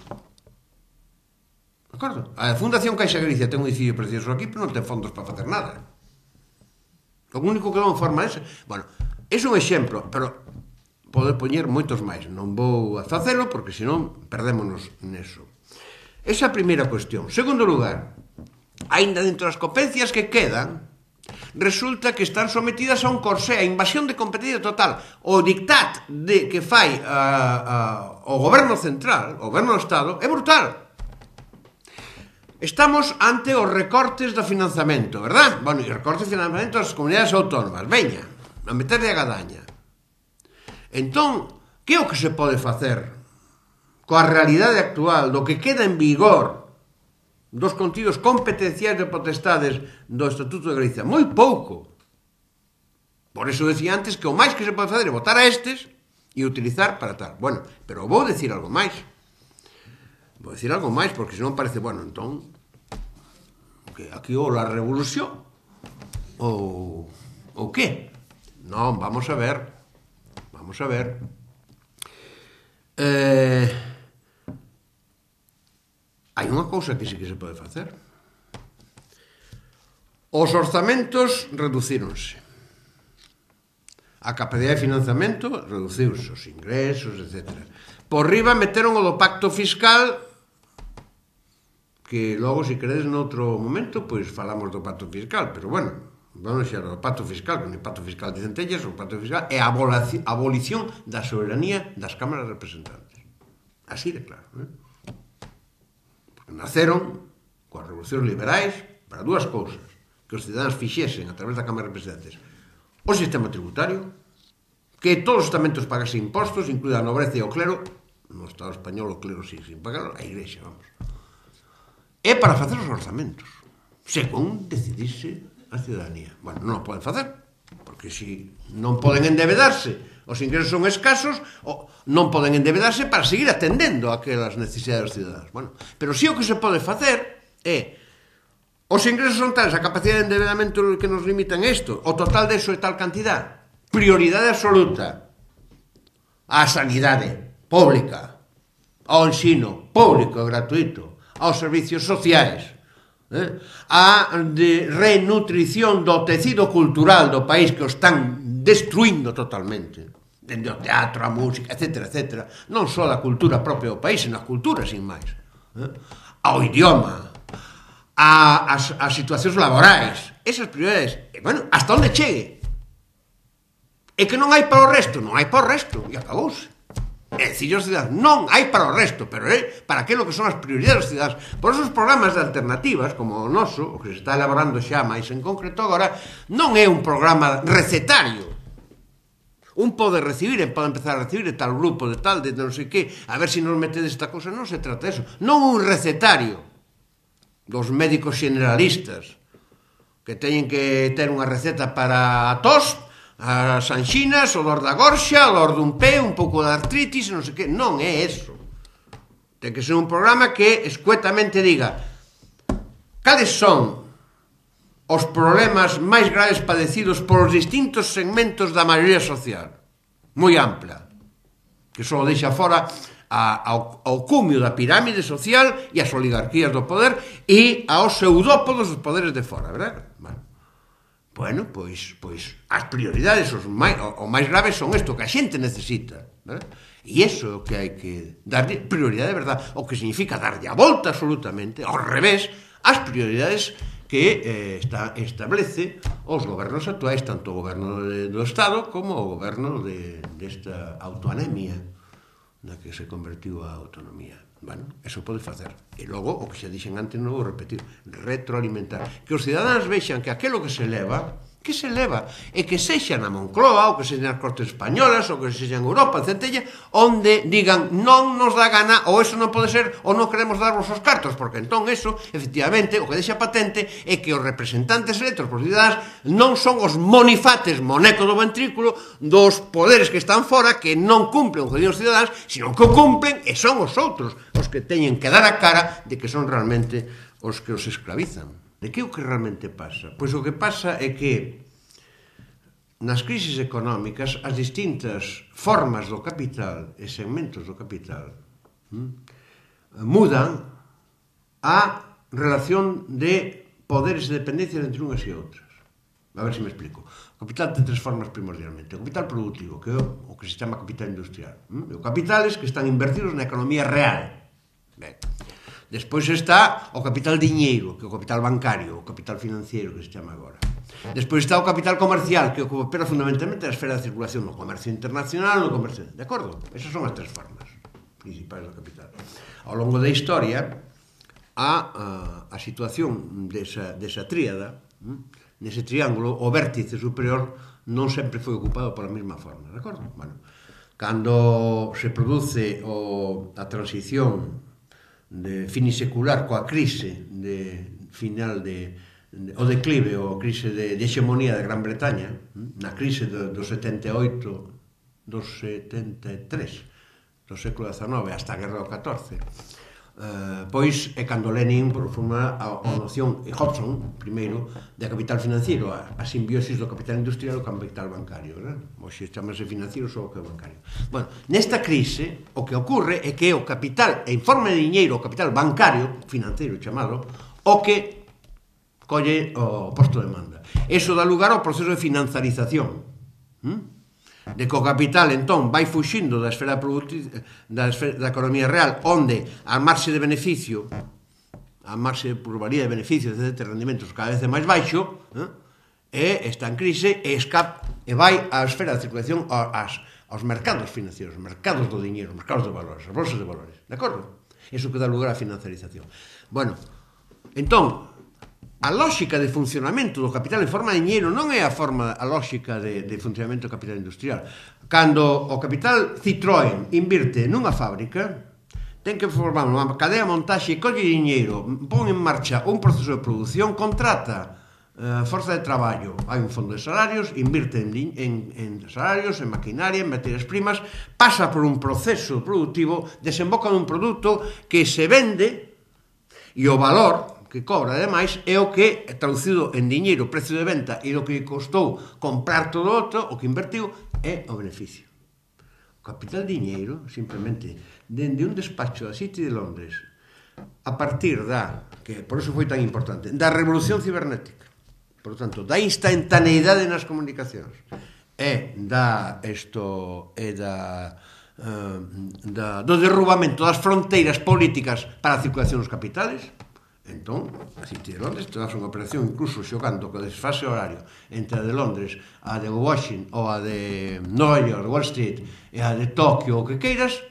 De acordo? A Fundación Caixa Galicia ten un edificio precioso aquí, pero non ten fondos para facer nada. O único que non forma ese... Bueno, é un exemplo, pero poder poñer moitos máis. Non vou a facelo porque senón perdémonos neso. Esa é a primeira cuestión. Segundo lugar, aínda dentro das competencias que quedan, resulta que están sometidas a un corsé, a invasión de competencia total. O dictat que fai o goberno central, o goberno do Estado, é brutal. Estamos ante os recortes do financiamento, verdad? Bueno, e recortes de financiamento das comunidades autónomas. Veña, a meterle a gadaña. Entón, que é o que se pode facer coa realidade actual do que queda en vigor dos contidos competenciais de potestades do Estatuto de Galicia? Moi pouco. Por eso decía antes que o máis que se pode fazer é votar a estes e utilizar para tal. Bueno, pero vou decir algo máis. Vou decir algo máis, porque senón parece, bueno, entón, que aquí ou la revolución ou que? Non, vamos a ver. Hai unha cousa que sí que se pode facer. Os orzamentos reducíronse. A capacidade de financiamento reduciuse, os ingresos, etc. Por riba meteron o do pacto fiscal, que logo, se queredes, noutro momento, pois falamos do pacto fiscal, pero bueno, vamos xa o pacto fiscal, que non é pacto fiscal de centellas, o pacto fiscal é a abolición da soberanía das cámaras representantes. Así de claro, Porque naceron coas revolucións liberais para dúas cousas: que os cidadáns fixesen a través da Cámara de Representantes o sistema tributario, que todos os estamentos pagasen impostos, incluída a nobreza e o clero. No Estado español o clero sigue sin pagar, a Igrexa, vamos. É para facer os orzamentos, según decidise a cidadanía. Bueno, non o poden facer, porque se non poden endebedarse, os ingresos son escasos, non poden endebedarse para seguir atendendo aquelas necesidades dos cidadáns. Bueno, pero si o que se pode facer é: os ingresos son tales, a capacidade de endebedamento que nos limitan isto, o total de eso é tal cantidad, prioridade absoluta á sanidade pública, ao ensino público e gratuito, aos servicios sociais, a de renutrición do tecido cultural do país, que o están destruindo totalmente, dende o teatro, a música, etc., etc., non só da cultura propia do país, senón a cultura, sin máis, ao idioma, as situacións laborais, esas prioridades, bueno, hasta onde chegue. E que non hai para o resto, non hai para o resto, e acabouse. É dicir, os cidadáns, non hai para o resto, pero é para aquilo que son as prioridades dos cidadáns. Por esos programas de alternativas, como o noso, o que se está elaborando xa máis en concreto agora, non é un programa recetario. Un pode recibir, pode empezar a recibir de tal grupo, de tal, de non sei que, a ver se nos metedes esta cousa. Non se trata de eso. Non un recetario dos médicos generalistas que teñen que ter unha receta para a tos, as anxinas, o dor da gorxa, o dor dun pé, un pouco de artritis, non sei que. Non é eso. Ten que ser un programa que escuetamente diga cales son os problemas máis graves padecidos por os distintos segmentos da maioría social, moi ampla, que só deixa fora ao cumio da pirámide social e as oligarquías do poder e aos pseudópodos dos poderes de fora, verdad? Bueno, pois as prioridades o máis graves son isto que a xente necesita, verdad? E iso é o que hai que darlle prioridade de verdad, o que significa darlle a volta absolutamente, ao revés, as prioridades que establece os gobernos actuais, tanto o goberno do Estado como o goberno desta autoanemia na que se convertiu a autonomía. Bueno, eso pode facer. E logo, o que xa dixen antes, non vou repetir, retroalimentar. Que os cidadáns vexan que aquilo que se leva, e que sexa na Moncloa, ou que sexa nas Cortes Españolas, ou que sexa en Europa, en Centella, onde digan non nos dá gana, ou eso non pode ser, ou non queremos darvos os cartos, porque entón eso, efectivamente, o que deixa patente é que os representantes electos por cidadáns non son os monifates, moneco do ventrículo, dos poderes que están fora, que non cumplen o que digan os cidadáns, sino que o cumplen e son os outros os que teñen que dar a cara de que son realmente os que os esclavizan. De que é o que realmente pasa? Pois o que pasa é que nas crisis económicas as distintas formas do capital e segmentos do capital mudan a relación de poderes e dependencias entre unhas e outras. A ver se me explico. O capital ten tres formas primordialmente. O capital productivo, que é o que se chama capital industrial. E o capitales que están invertidos na economía real. Ben. Despois está o capital diñeiro, que é o capital bancario, o capital financiero, que se chama agora. Despois está o capital comercial, que opera fundamentalmente na esfera de circulación, no comercio internacional, no comercio... De acordo? Esas son as tres formas principais do capital. Ao longo da historia, a situación desa tríada, nese triángulo, o vértice superior non sempre foi ocupado pola mesma forma, de acordo? Bueno, cando se produce a transición de finisecular coa crise final o declive ou a crise de hexemonía de Gran Bretaña, na crise do 78, do 73, do século XIX hasta a Guerra do 14, Pois é cando Lenin formula a noción, e Hobson, primeiro, de capital financiero, a simbiosis do capital industrial e do capital bancario. Hoxe chamase financiero só o que é bancario. Bueno, nesta crise, o que ocorre é que o capital, en forma de diñeiro, o capital bancario, financiero chamado, o que colle o posto de demanda. Eso dá lugar ao proceso de financiarización. De que o capital, entón, vai fuxindo da esfera da economía real, onde a marxe de beneficio, a marxe de plusvalía de beneficios, de rendimentos cada vez é máis baixo, e está en crise, e vai á esfera de circulación aos mercados financieros, os mercados do diñeiro, os mercados de valores, as bolsas de valores, de acordo? Iso que dá lugar á financiarización. Bueno, entón, a lógica de funcionamento do capital en forma de diñeiro non é a lógica de funcionamento do capital industrial. Cando o capital Citroën invirte nunha fábrica, ten que formar unha cadea de montaxe, colle diñeiro, pon en marcha un proceso de produción, contrata forza de traballo, hai un fondo de salarios, invirte en salarios, en maquinaria, en materias primas, pasa por un proceso productivo, desemboca nun produto que se vende e o valor que cobra, ademais, é o que, traducido en diñeiro, precio de venta, e o que costou comprar todo outro, o que invertiu, é o beneficio. O capital diñeiro, simplemente, dende un despacho da City de Londres, a partir que por iso foi tan importante, da revolución cibernética, por tanto, da instantaneidade nas comunicacións, do derrubamento das fronteiras políticas para a circulación dos capitales. Entón, a City de Londres traz unha operación incluso xogando co desfase horario entre a de Londres, a de Washington ou a de Nova York, Wall Street e a de Tokio, o que queiras,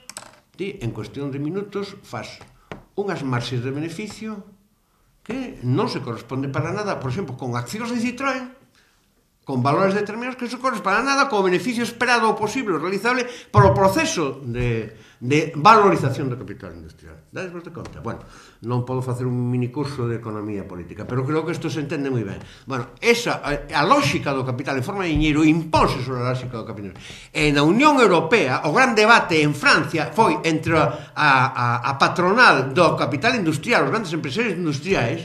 ti en cuestión de minutos faz unhas marxes de beneficio que non se corresponde para nada, por exemplo, con accións de Citroën, con valores determinados que non se corresponde para nada co beneficio esperado ou posible, realizable polo proceso de valorización do capital industrial. Dades vos de conta? Bueno, non podo facer un minicurso de economía política, pero creo que isto se entende moi ben. Bueno, a lógica do capital en forma de diñeiro impónse sobre a lógica do capital. E na Unión Europea, o gran debate en Francia foi entre a patronal do capital industrial, os grandes empresarios industriais,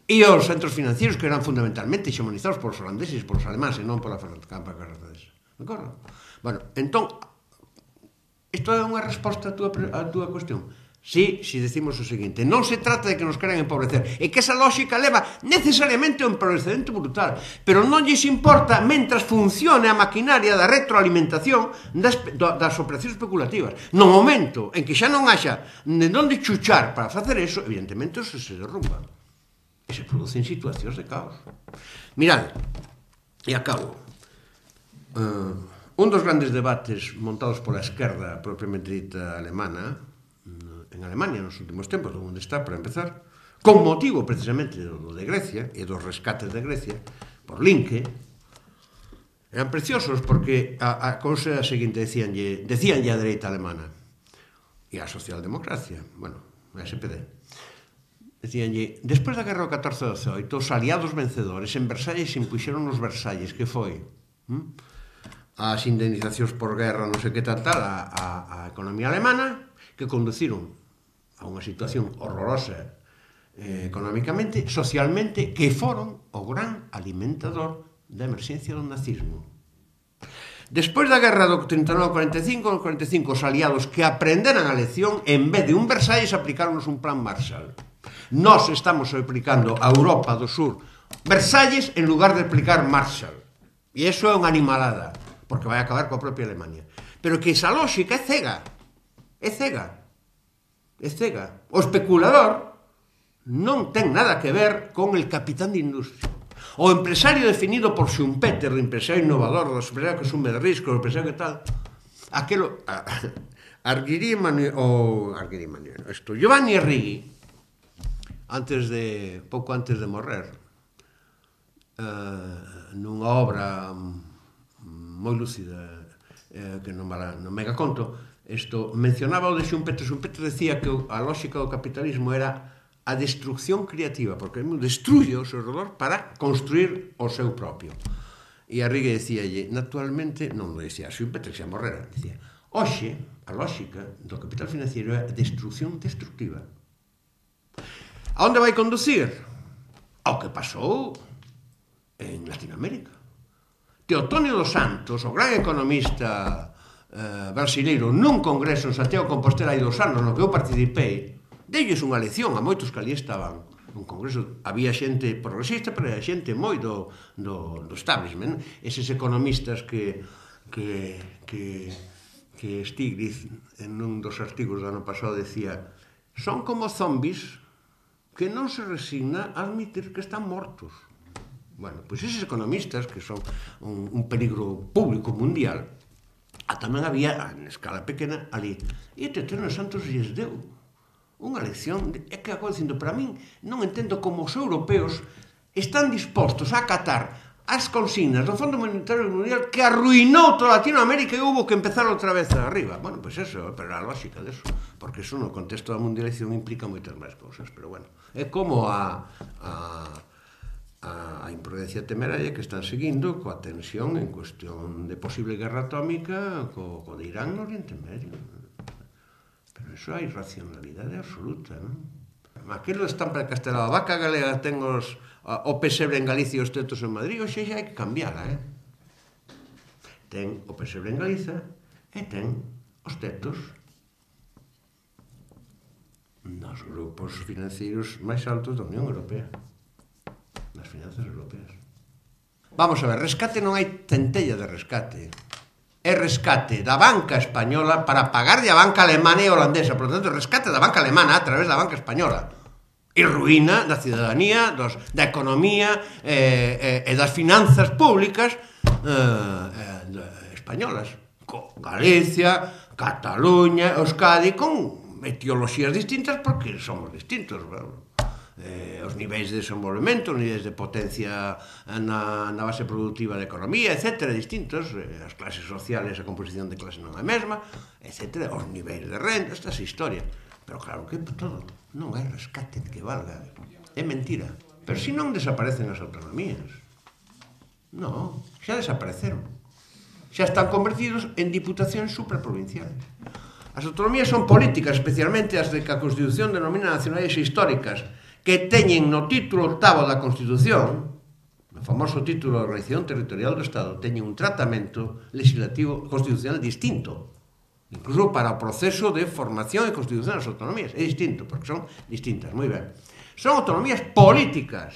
e os centros financieros que eran fundamentalmente xemonizados polos holandeses, polos alemáns e non pola campa francesa. De acordo? Bueno, entón, isto é unha resposta a túa cuestión. Si decimos o seguinte, non se trata de que nos queran empobrecer, e que esa lógica leva necesariamente a un empobrecemento brutal, pero non lles importa mentras funcione a maquinaria da retroalimentación das operacións especulativas. No momento en que xa non haxa de onde chuchar para facer eso, evidentemente eso se derrumba. E se producen situacións de caos. Mirad, e acabo. Un dos grandes debates montados pola esquerda propiamente dita alemana, en Alemania nos últimos tempos, onde está, para empezar, con motivo precisamente do de Grecia e dos rescates de Grecia, por Linke, eran preciosos porque a cousa é a seguinte, decíanlle a dereita alemana e a socialdemocracia, bueno, a SPD, decíanlle, despois da guerra do 14-18, os aliados vencedores en Versalles impuxeron os Versalles, que foi as indemnizacións por guerra, non sei que tal, a economía alemana, que conduciron a unha situación horrorosa económicamente, socialmente, que foron o gran alimentador da emerxencia do nazismo. Despois da guerra do 39-45, no 45, os aliados que aprenderan a lección, en vez de un Versalles, aplicaronos un plan Marshall. Nós estamos aplicando a Europa do Sur Versalles en lugar de aplicar Marshall. E iso é unha animalada, porque vai acabar coa propia Alemania. Pero que esa lógica é cega. É cega. É cega. O especulador non ten nada que ver con el capitán de industria. O empresario definido por Schumpeter, o empresario innovador, o empresario que asume de risco, o empresario que tal, aquelo... Giovanni Arrighi, pouco antes de morrer, nunha obra moi lúcida que non mega conto, mencionaba o de Schumpeter. Schumpeter decía que a lógica do capitalismo era a destrucción creativa, porque destruye o seu redor para construir o seu propio. E Arrighi decíalle, naturalmente, non lo decía Schumpeter, que xa morrera, decía, hoxe, a lógica do capital financiero é a destrucción destructiva. A onde vai conducir? Ao que pasou en Latinoamérica. Teotonio dos Santos, o gran economista brasileiro, nun congreso en Santiago de Compostela hai 2 anos no que eu participei, deulles unha lección a moitos que ali estaban. Un congreso había xente progresista, pero era xente moi do establishment. Eses economistas que Stiglitz, en un dos artigos do ano pasado, decía: son como zombies que non se resigna a admitir que están mortos. Bueno, pois eses economistas, que son un peligro público mundial, tamén había, en escala pequena, ali. E Teotonio dos Santos lles deu unha lección. É que acabo dicindo, para min, non entendo como os europeos están dispostos a acatar as consignas do Fondo Monetario Mundial que arruinou toda Latinoamérica e hubo que empezar outra vez arriba. Bueno, pois eso, pero a lógica deso, porque eso no contexto da mundialización implica moitas máis cousas, pero bueno, é como a imprudencia temeraria que están seguindo coa tensión en cuestión de posible guerra atómica co de Irán no Oriente Medio. Pero iso hai racionalidade absoluta, non? Aquilo estampa castelao, a vaca galega ten o pesebre en Galicia e os tetos en Madrid, hoxe xa hai que cambiala, Ten o pesebre en Galiza e ten os tetos nos grupos financeiros máis altos da Unión Europea, nas finanzas europeas. Vamos a ver, rescate non hai centella de rescate. É rescate da banca española para pagarlle a banca alemana e holandesa. Por lo tanto, rescate da banca alemana a través da banca española. E ruína da cidadanía, da economía e das finanzas públicas españolas. Con Galicia, Cataluña, Euskadi, con etioloxías distintas porque somos distintos, os niveis de desenvolvemento, os niveis de potencia na base productiva da economía, etc., distintos, as clases sociales, a composición de clase non é a mesma, etc., os niveis de renda, esta é a historia. Pero claro que todo non hai rescate que valga, é mentira. Pero se non desaparecen as autonomías, non, xa desapareceron, xa están convertidos en diputacións supraprovinciales. As autonomías son políticas, especialmente as de que a Constitución denomina nacionais e históricas, que teñen no título 8º da Constitución, no famoso título de Organización Territorial do Estado, teñen un tratamento legislativo constitucional distinto. Incluso para o proceso de formación e constitución das autonomías. É distinto, porque son distintas, moi ben. Son autonomías políticas.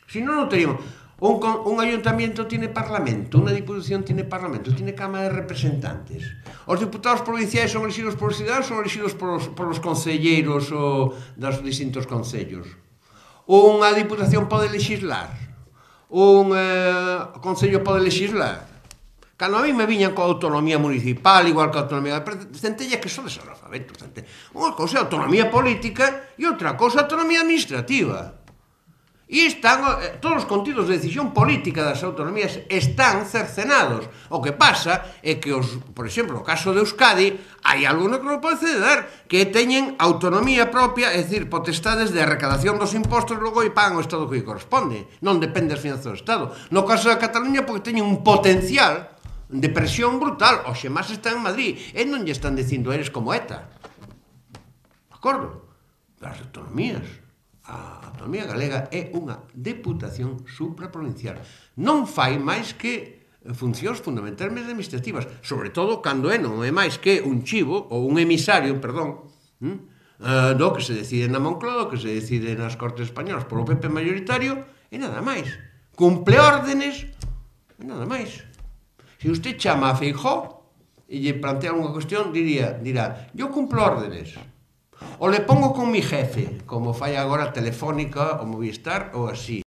Si non, non teríamos... Un ayuntamiento tiene parlamento, unha diputación tiene parlamento, tiene Cámara de Representantes. Os diputados provinciais son elegidos por os cidadanos, son elegidos por os concelleiros dos distintos concellos. Unha diputación pode legislar, un concello pode legislar. Cando a mí me viñan coa autonomía municipal, igual que a autonomía de centella, que son desalfabetos. Unha cousa é autonomía política e outra cousa é autonomía administrativa. E todos os contidos de decisión política das autonomías están cercenados. O que pasa é que, por exemplo, no caso de Euskadi, hai alguno que non pode ceder, que teñen autonomía propia, é dicir, potestades de recadación dos impostos, logo e pagan o Estado que lle corresponde. Non depende das finanzas do Estado. No caso da Cataluña, porque teñen un potencial de presión brutal. Oxe, máis están en Madrid, e non lle están dicindo eres como ETA. De acordo? As autonomías... A autonomía galega é unha deputación supraprovincial. Non fai máis que funcións fundamentalmente administrativas, sobre todo cando non é máis que un chivo, ou un emisario, perdón, do que se decide na Moncloa, que se decide nas Cortes Españolas polo PP mayoritario, e nada máis. Cumple órdenes, e nada máis. Se usted chama a Feijóo e lle plantea unha cuestión, dirá, yo cumplo órdenes. O le pongo con mi jefe, como fai agora Telefónica, o Movistar, ou así.